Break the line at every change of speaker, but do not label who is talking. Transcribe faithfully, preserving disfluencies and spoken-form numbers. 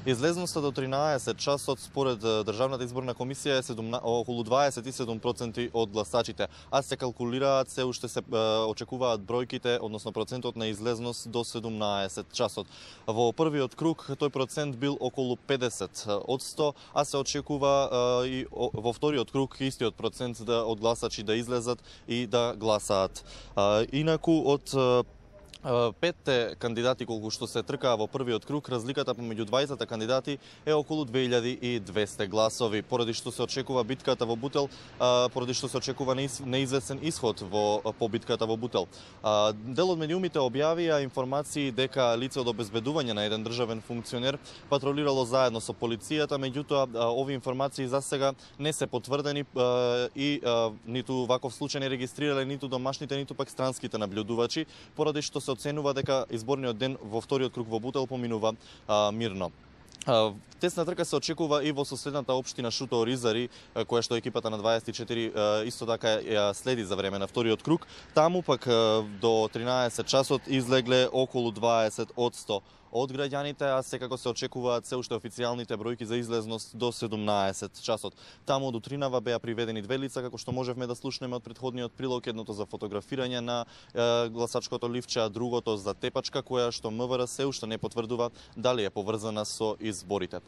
Излезноста до тринаесет часот според Државната изборна комисија е околу дваесет и седум проценти од гласачите, а се калкулираат, се уште се очекуваат бројките, односно процентот на излезност до седумнаесет часот. Во првиот круг тој процент бил околу педесет од сто, а се очекува и во вториот круг истиот процент да од гласачи да излезат и да гласаат. Инаку од петте кандидати колку што се тркаа во првиот круг, разликата помеѓу двајцата кандидати е околу две илјади и двесте гласови, поради што се очекува битката во Бутел, поради што се очекува неизвестен исход во по битката во Бутел. Дел од медиумите објавија информации дека лице од обезбедување на еден државен функционер патролирало заедно со полицијата, меѓутоа овие информации засега не се потврдени и ниту ваков случај не регистрирале ниту домашните, ниту пак странските наблюдувачи, поради што се оценува дека изборниот ден во вториот круг во Бутел поминува а, мирно. А, тесна трка се очекува и во соседната општина Шуто-Оризари, која што екипата на дваесет и четири а, исто така ја следи за време на вториот круг. Таму пак а, до тринаесет часот излегле околу дваесет од сто од граѓаните, а секако се очекуваат се уште официјалните бројки за излезност до седумнаесет часот. Таму до Тринава беа приведени две лица, како што можевме да слушнеме од претходниот прилог, едното за фотографирање на е, гласачкото ливче, а другото за тепачка, која што МВР се уште не потврдува дали е поврзана со изборите.